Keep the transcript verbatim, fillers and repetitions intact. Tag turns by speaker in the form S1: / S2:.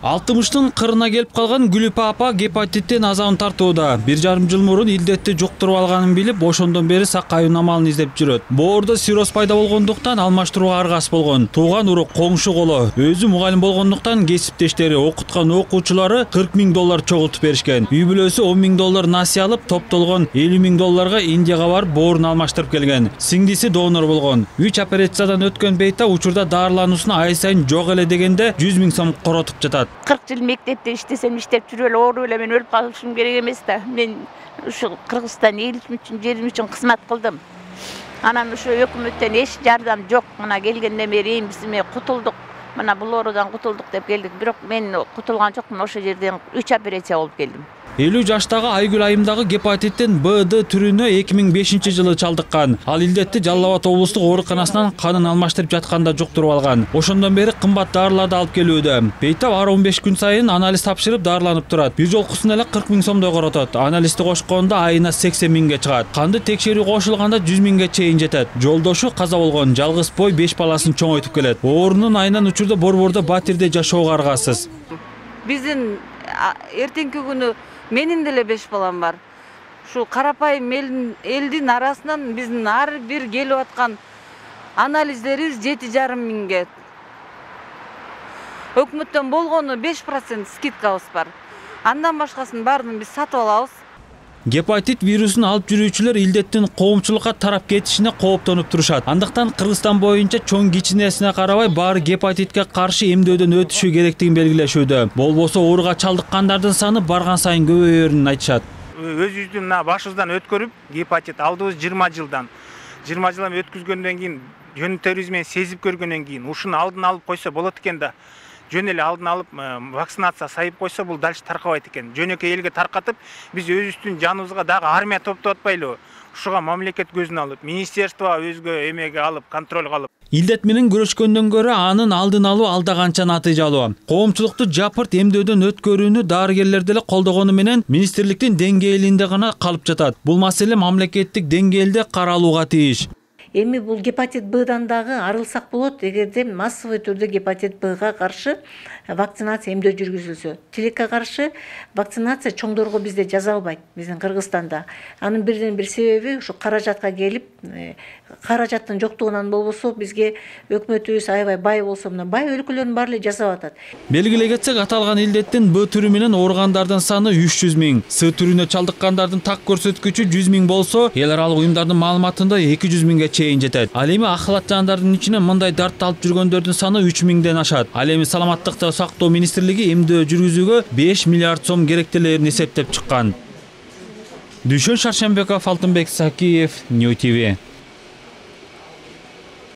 S1: алтымыштын кырына келип калган Гүлүпа апа гепатиттен азабын тартууда. Бир жарым жыл мурун илдетти жуктуруп алганын билип, ошондон бери сакаюун амалын издеп жүрөт. Боордо сироз пайда болгондуктан алмаштырууга аргасыз болгон. Тууган урук коңшу коло, өзү мугалим болгондуктан кесиптештери, окуткан окуучулары кырк миң доллар чогултуп беришкен. Үй бүлөсү он миң доллар насыя алып, топтолгон элүү миң долларга Индияга барып боорун алмаштырып келген. Сиңдиси донор болгон. үч операциядан өткөн Бейта учурда дарылануусуна ай сайын жок эле дегенде жүз миң сом коротуп жатат.
S2: кырк жыл мектепте иштесем, иштеп жүрүп эле ооруп эле мен өлүп калышым керек эмес да. Мен ушу Кыргызстан элчим үчүн, жерим үчүн кызмат кылдым. Анан ушу өкмөттөн эч жардам жок. Мына келгенден бери биз эме кутулдук. Мына бул оорудан кутулдук деп келдик. Бирок мен кутулган жокмун. Ошо жерден үч операция болуп келдим.
S1: элүү жаштагы Айгүл айымдагы гепатиттин Б Д түрүнө эки миң бешинчи жылы чалдыккан. Ал илдетти Жалал Абад облустук ооруканасынан канын алмаштырып жатканда жуктуруп алган. Ошондон бери кымбат дарыларды алып келүүдө. Бейта ар он беш күн сайын анализ тапшырып дарыланып турат. Бир жолкусуна эле кырк миң сомдой коротот. Анализди кошкондо айына сексен миңге чыгат. Канды текшерүү кошулганда жүз миңге чейин жетет. Жолдошу каза болгон, жалгыз бой беш баласын чоңойтуп келет. Оорунун айынан учурда борбордо батирде жашоого аргасыз.
S3: Биздин эртеңки күнү менин деле беш балам бар. Ушу карапайым элдин арасынан биздин ар бир келип аткан анализдерибиз жети жарым миңге. Өкмөттөн болгону беш процент скидкабыз бар. Андан башкасын баарын биз сатып алабыз.
S1: Гепатит вирусун алып жүрүүчүлөр илдеттин коомчулукка тарап кетишине кооптонуп турушат. Андыктан Кыргызстан боюнча чоң кичинесине карабай баары гепатитке каршы эмдөөдөн өтүшү керектигин белгилешүүдө. Болбосо ооруга чалдыккандардын саны барган сайын көбөйөрүн айтышат.
S4: Өзүбүздүн башыбыздан өткөрүп, гепатит алдыбыз жыйырма жылдан. жыйырма жылдан өткүзгөндөн кийин, жөн терибиз менен сезип көргөндөн кийин, ушуну алдын алып койсо болот экен да. Жөн эле алдын алып вакцинация сайып койсо бул дальше таркабайт экен. Жөнөкөй элге таркатып, биз өзүбүздүн жаныбызга дагы армия топтоп атпайлыбы? Ушуга мамлекет көзүн алып, министерство өзгө эмеге алып, контролго алып.
S1: Илдет менен күрөшкөндөн көрө анын алдын алуу алда канча натыйжалуу. Коомчулукту жапырт эмдөөдөн өткөрүүнү дарыгерлер деле колдогону менен министрликтин деңгээлинде гана калып жатат. Бул маселе мамлекеттик деңгээлде каралууга тийиш.
S5: Эми бул гепатит Б'дан дагы арылсак болот, эгерде массовый түрдө гепатит Б'га каршы вакцинация эмдөө жүргүзүлсө. Тилекке каршы вакцинация чоңдорго бизде жасалбайт, биздин Кыргызстанда. Анын бирден бир себеби ушу каражатка келип, каражаттын жоктугунан болбосо бизге өкмөтүбүз аябай бай болсо, мына бай өлкөлөрдүн баары эле жасап атат.
S1: Белгилей кетсек, аталган илдеттин Б түрү менен ооругандардын саны үч жүз миң, С түрүнө чалдыккандардын так көрсөткүчү жүз миң болсо, эл аралык уюмдардын маалыматында эки жүз миңге чейин жетет. Ал эми акылат жандардын ичинен мындай дартты алып жүргөндөрдүн саны үч миңден ашат. Ал эми саламаттыкты сактоо министрлиги эмдөө жүргүзүүгө беш миллиард сом керектелерин эсептеп чыккан. Дүшөн Шаршембеков, Алтынбек Сакиев, Нью Ти Ви.